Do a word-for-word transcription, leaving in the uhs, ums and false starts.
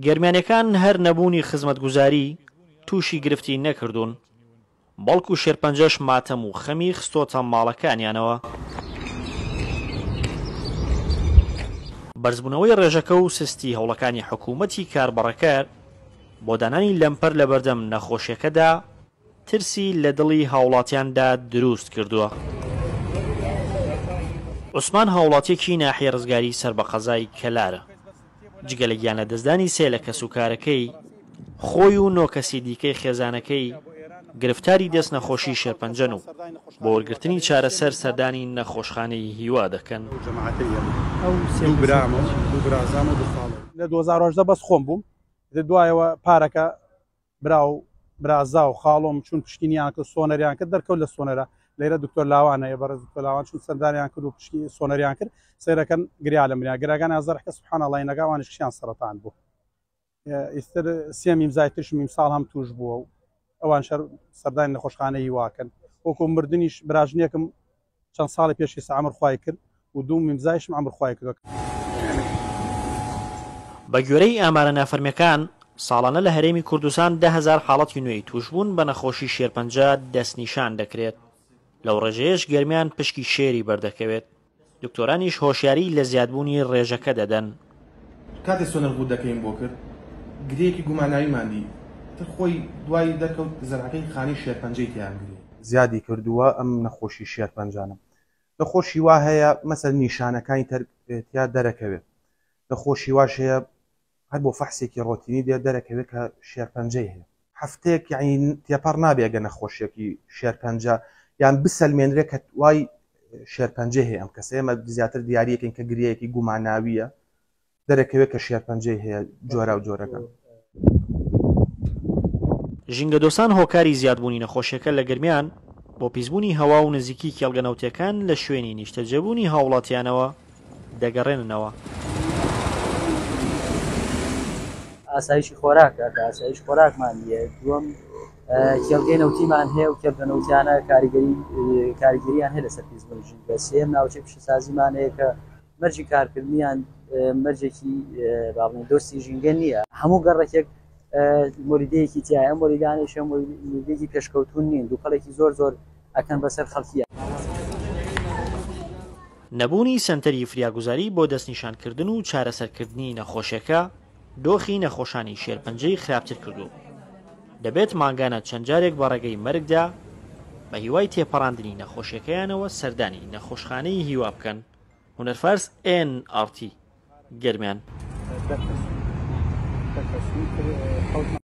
گەرمیانەکان هەر نەبوونی خزمەتگوزاری تووشی گرفتی نەکردوون، بەڵکو شێرپەنجەش ماتەم و خەمی خستۆتە ماڵەکانیانەوە. بەرزبوونەوەی ڕێژەکە و سستی هەوڵەکانی حکوومەتی کاربەڕێکەر بۆ دانانی لەمپەر لەبەردەم نەخۆشیەکەدا ترسی لە دڵی هاوڵاتیاندا دروست کردووە. عوسمان هاوڵاتیەکی ناحیە ڕزگاری سەر بە قەزای کەلارە، جگە لە گیان لەدەستدانی سێ لە کەسوکارەکەی خۆی و نۆ کەسی دیکەی خێزانەکەی گرفتاری دەست نەخۆشی شێرپەنجەن و بۆ وەرگرتنی چارەسەر سەردانی نەخۆشخانەی هیوا دەکەن. لە دوو هەزار و هەژدە بەس خۆم بووم، دوایەوە پارەکە برا و برازا و خاڵۆم چون پشتینیان کرد، سۆنەریان کرد، دەرکەوت لە سۆنەرە لێرە دکتۆر لاوانە بەڕێز دکتۆر لاوان چون سەردانیان کرد و پشتی سۆنەریان کرد، سەیرەکەن گریا لە منیان گراگان ئازارەکە سبحان الله نەگاوانیش کشیان سەرەتان بوو. ئیستر سێ میمزای ترشم ئیمساڵ هەم توش بووە و ئەوان شەر سەردانی نەخۆشخانەی هیواکەن. وەکو مردنیش براژنێکم چەند ساڵی پێشی سە عەمر خوای کرد و دوو میمزایشم عەمر خوای کردووە. بە گوێرەی ئامارە نافەرمیەکان ساڵانە لە هەرێمی کوردستان ده هەزار حاڵەتی نوێی توشبوون بە نەخۆشی شێرپەنجە دەستنیشان دەکرێت. لەو ڕێژەیەش گەرمیان پشکی شێری بەردەکەوێت. دکتۆرانیش هۆشیاری لە زیادبوونی ڕێژەکە دەدەن. کاتێ سۆنەر غودەکەیم بۆ کرد گرێکی گوماناویمان دی، تر خۆی دوای دەرکەوت زەرعەکەی خانەی شێرپەنجەی تیان گرێ. زیادی کردووە ئەم نەخۆشی شێرپەنجانە. نەخۆشی وا هەیە مەسەل نیشانەکانی تیا دەرەکەوێت، نەخۆشی واش هەیە هەر بۆ فەحسێکی ڕۆتینی دێ دەرەکەوێت کە شێرپەنجەی هەیە. هەفتەیەک یعنی تێپەڕ نابێت گە نەخۆشیەکی شێرپەنجە یان بسەلمێنرێت کە وای شێرپەنجەی هەیە. ئەم کەسە ئێمە زیاتر دیاریەکەین کە گرەیەکی گوماناویە دەرەکەوێت کە شێرپەنجەی هەیە جۆرا و جۆرەکە. ژینگەدۆستان هۆکاری زیادبوونی نەخۆشیەکە لە گەرمیان بۆ پیسبوونی هەوا و نزیکی کێڵگە نەوتیەکان لە شوێنی نیشتەجێبوونی هاوڵاتیانەوە دەگەڕێننەوە. ئاسایشی خۆراکە کە ئاسایش خۆراکمان نییە. دووەم کێڵگەی نەوتیمان هەیە و کێڵگە نەوتیانە کاریگەریان هەیە لەسەر پیسبوونی ژینگە. سێیەم ناوچەی پیشەسازیمان هەیە کە مەرجی کارکردنیان مەرجێکی با بڵێین دۆستی ژینگە نییە. هەموو گەڕەکێک مۆلیدەیەکی تایە، ئەم مۆلیدانەیش مۆلیدەیەکی پێشکەوتون نین، دووکەڵێکی زۆر زۆر ئەکەن بەسەر خەڵکیە. نەبوونی سەنتەری فریاگوزاری بۆ دەستنیشانکردن و چارەسەرکردنی نەخۆشیەکە دۆخی نەخۆشانی شێرپەنجەی خراپتر کردو. دەبێت مانگانە چەند جارێک بە ڕێگەی مەرگدا بە هیوای تێپەڕاندنی نەخۆشیەکەیانەوە سەردانی نەخۆشخانەی هیوا بکەن. هونەر فارس ئێن ئاڕ تی گەرمیان.